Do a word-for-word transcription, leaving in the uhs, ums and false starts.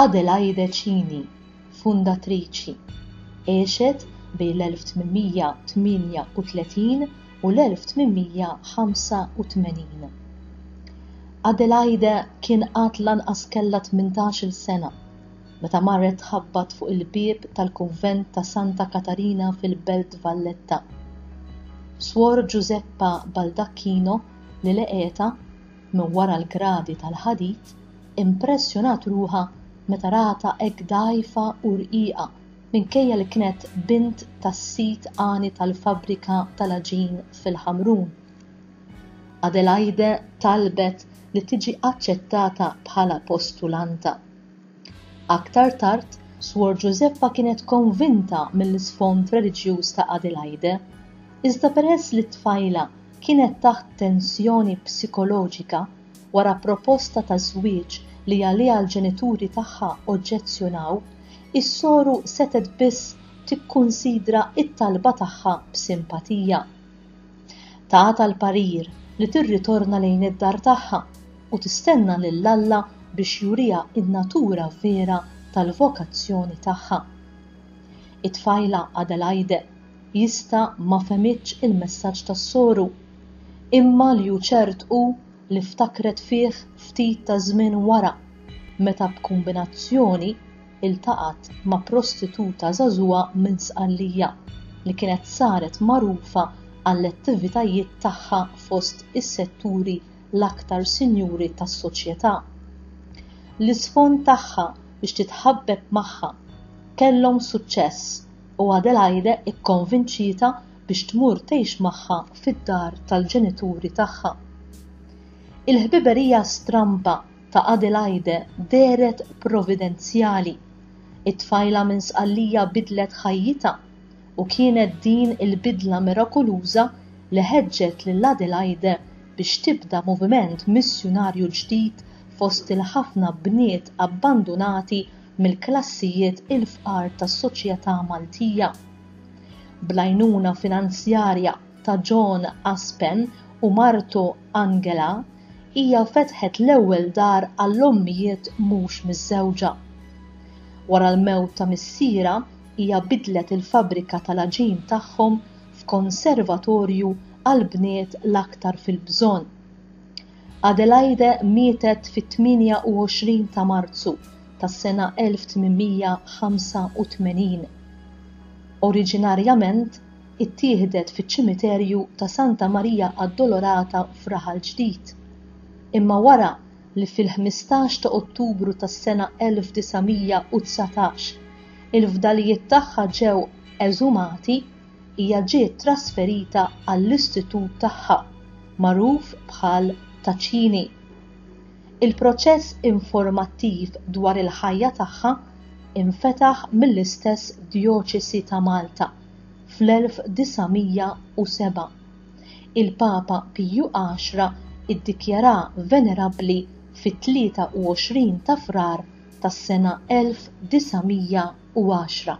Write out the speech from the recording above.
Adelaide Cini, fundatriċi, għexet bejn l-elf tmien mija tmienja u tletin u l-elf tmien mija ħamsa u tmenin. Adelaide kien għad lanqas kellha tmintax-il sena meta marret tħabbat fuq il-bieb tal-kunvent ta' Santa Katarina fil-Belt Valletta. Swor Giuseppa Baldacchino li leqeta minn wara l-gradi tal-ħadid impressjonat ruħha meta rata hekk dgħajfa u rqiqa minkejja li kienet bint tas-sit għani tal-fabbrika tal-aġin fil-Ħamrun. Adelaide talbet li tiġi aċċettata bħala postulanta. Aktar tard, Swor Giuseppa kienet konvinta mill-isfond reliġjuż ta' Adelaide, iżda peress li t-tfajla kienet taħt tensjoni psikoloġika wara proposta ta' żwieġ li għaliha l-ġenituri tagħha oġġezzjonaw, is-soru setgħet biss tikkunsidra t-talba tagħha b'simpatija. Tagħta l-parir li tirritorna lejn id-dar tagħha u tistenna lil Alla biex juriha n-natura vera tal-vokazzjoni tagħha. It-tfajla Adelaide jista' ma fehmitx il-messaġġ tas-soru, imma li hu ċert hu li ftakret fih ftit ta' żmien wara, meta b'kombinazzjoni iltaqat ma' prostituta żagħżugħa minn Sqallija li kienet saret magħrufa għall-attivitajiet tagħha fost is-setturi l-aktar sinjuri tas-soċjetà. L-isfond tagħha biex titħabbeb magħha kellhom suċċess u Adelaide ikkonvinċietha biex tmur tgħix magħha fid-dar tal-ġenituri tagħha. Il-ħbiberija stramba ta' Adelaide dehret providenzjali. It-tfajla minn Sqallija bidlet ħajjitha u kienet din il-bidla mirakoluża li ħeġġet lil Adelaide biex tibda moviment missjunarju ġdid fost il-ħafna bniet abbandonati mill-klassijiet il-fqar tas-soċjetà Maltija. Bl-għajnuna finanzjarja ta' John Aspen u martu Angela, hija fetħet l-ewwel dar għall-ommijiet mhux miżżewġa. Wara l-mewt ta' missiera, hija bidlet il-fabbrika tal-aġin tagħhom f'konservatorju għal bniet l-aktar fil-bżonn. Adelaide mietet fit-tmienja u għoxrin ta' Marzu tas-sena elf tmien mija ħamsa u tmenin. Oriġinarjament ittieħdet fiċ-ċimiterju ta' Santa Maria Addolorata f'Raħal Ġdid. Imma wara li fil-ħmistax ta' Ottubru tas-sena elf disa' mija u dsatax il-fdalijiet tagħha ġew eżumati, hija ġiet trasferita għall-istitut tagħha, magħruf bħal Taċini. Il-proċess informattiv dwar il-ħajja tagħha infetaħ mill-istess Djoċesi ta' Malta fl-elf disa' mija u seba'. Il-Papa Piju għaxra iddikjara venerabbli fit-tlieta u għoxrin ta' Frar tas-sena elf disa' mija u għaxra.